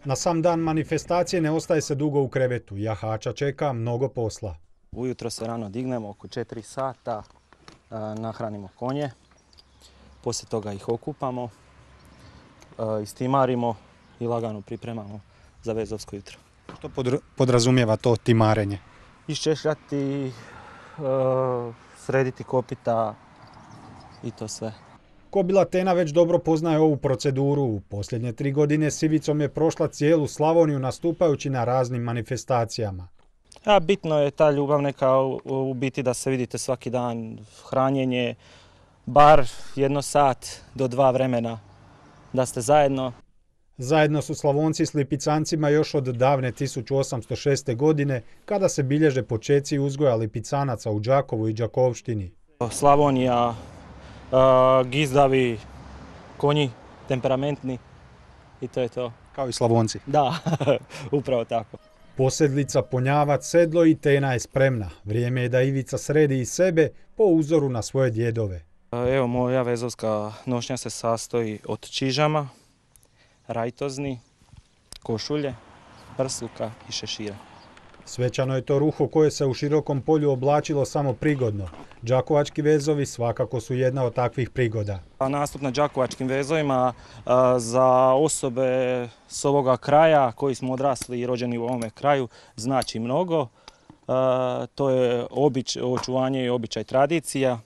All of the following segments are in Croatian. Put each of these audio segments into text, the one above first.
Na sam dan manifestacije ne ostaje se dugo u krevetu. Jahača čeka mnogo posla. Ujutro se rano dignemo oko 4 sata, nahranimo konje, poslije toga ih okupamo, istimarimo i lagano pripremamo za vezovsko jutro. Što podrazumijeva to timarenje? Iščešljati, srediti kopita i to sve. Kobila Tena već dobro poznaje ovu proceduru. U posljednje 3 godine s Ivicom je prošla cijelu Slavoniju nastupajući na raznim manifestacijama. Bitno je ta ljubav neka u biti da se vidite svaki dan, hranjenje, bar 1 sat do 2 vremena da ste zajedno. Zajedno su Slavonci s lipicancima još od davne 1806. godine kada se bilježe počeci uzgoja lipicanaca u Đakovu i Đakovštini. Slavonija, gizdavi, konji, temperamentni i to je to. Kao i Slavonci. Da, upravo tako. Posedlica, ponjavac, sedlo i Tena je spremna. Vrijeme je da Ivica sredi i sebe po uzoru na svoje djedove. Evo, moja vezovska nošnja se sastoji od čižama, rajtozni, košulje, prsluka i šešira. Svečano je to ruho koje se u širokom polju oblačilo samo prigodno. Đakovački vezovi svakako su jedna od takvih prigoda. Nastup na đakovačkim vezovima za osobe s ovoga kraja koji smo odrasli i rođeni u ovome kraju znači mnogo. To je očuvanje i običaj tradicija.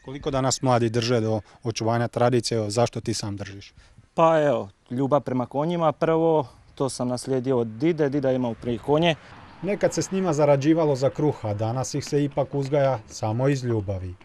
Koliko danas mladi drže do očuvanja tradicije, zašto ti sam držiš? Pa evo, ljubav prema konjima prvo, to sam naslijedio od dide, dida imao prije konje. Nekad se s njima zarađivalo za kruh, a danas ih se ipak uzgaja samo iz ljubavi.